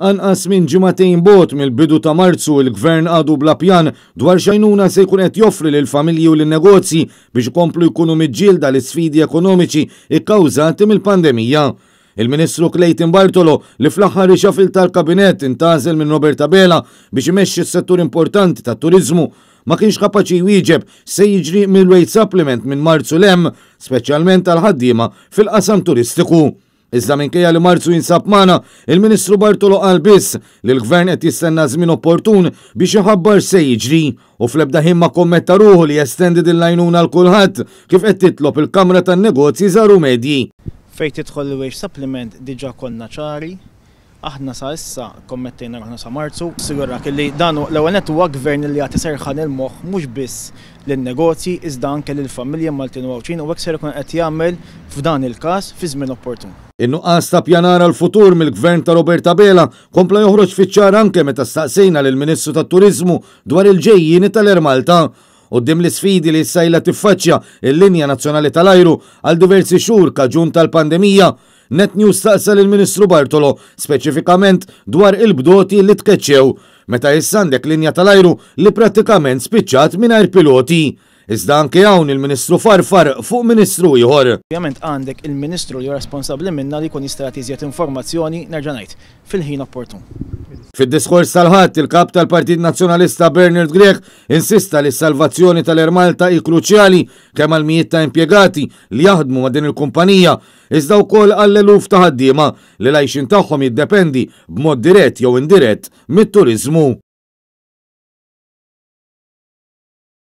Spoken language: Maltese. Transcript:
Anqas minn ġimagħtejn bogħod mill-bidu ta' Marzu il-Gvern għadu bla pjan dwar x'għajnuna se jkun qed joffri lill-familji u lin-negozji biex ikomplu jkunu miġġielda l-isfidi ekonomiċi kkawżati mill-pandemija. Il-Ministru Clayton Bartolo li fl-aħħar reshuffle tal-Kabinett intgħażel minn Robert Abela biex imexxi s-settur importanti tat-turiżmu ma kienx kapaċi jwieġeb se jiġri mill-wage supplement minn Marzu 'l hemm, speċjalment għall-ħaddiema fil-qasam turistiku. Iżda minkejja li Marzu jinsab magħna, il-Ministru Bartolo qal biss li l-Gvern qed jistenna żmien opportun biex iħabbar se jiġri u fl-ebda ħin ma kommetta ruħu li jestendi din l-għajnuna għal kulħadd kif qed titlob il-Kamra tan-Negozji Żgħar u Medji. Fejn tidħol il-wage supplement diġà konna ċari, aħna sa issa kommettejna ruħna sa Marzu. Sigurak li dan l-ewwel nett huwa gvern li jagħti serħan il-moħħ mhux biss lin-negozji iżda anke lill-familji Maltin u Għawdxin u hekk ser ikun qed jagħmel f'dan il-każ fi żmien opportun. In-nuqqas ta' pjanar għall-futur mill-Gvern ta' Robert Abela kompla joħroġ fiċ-ċar anke meta staqsejna lill-Ministru tat-Turiżmu dwar il-ġejjieni tal-Air Malta. Quddiem l-isfidi li issa ilha tiffaċċja l-linja nazzjonali tal-ajru għal diversi xhur kaġun tal-pandemija, Net News staqsa lill-Ministru Bartolo speċifikament dwar il-bdoti li tkeċċew, meta issa għandek linja tal-ajru li prattikament spiċċat mingħajr piloti. Iżda anke hawn il-Ministru farfar fuq Ministru ieħor. Ovvjament għandek il-Ministru li hu responsabbli minnha li jkun jista' jagħti iżjed informazzjoni, nerġa' ngħid, fil-ħin opportun. Fid-diskors tal-Ħadd, il-Kap tal-Partit Nazzjonalista Bernard Grech insista li s-salvazzjoni tal-Air Malta hi kruċjali kemm għall-mijiet ta' impjegati li jaħdmu ma' din il-kumpanija iżda wkoll għall-eluf ta' ħaddiema li l-għajxien tagħhom jiddependi b'mod dirett jew indirett mit-turiżmu.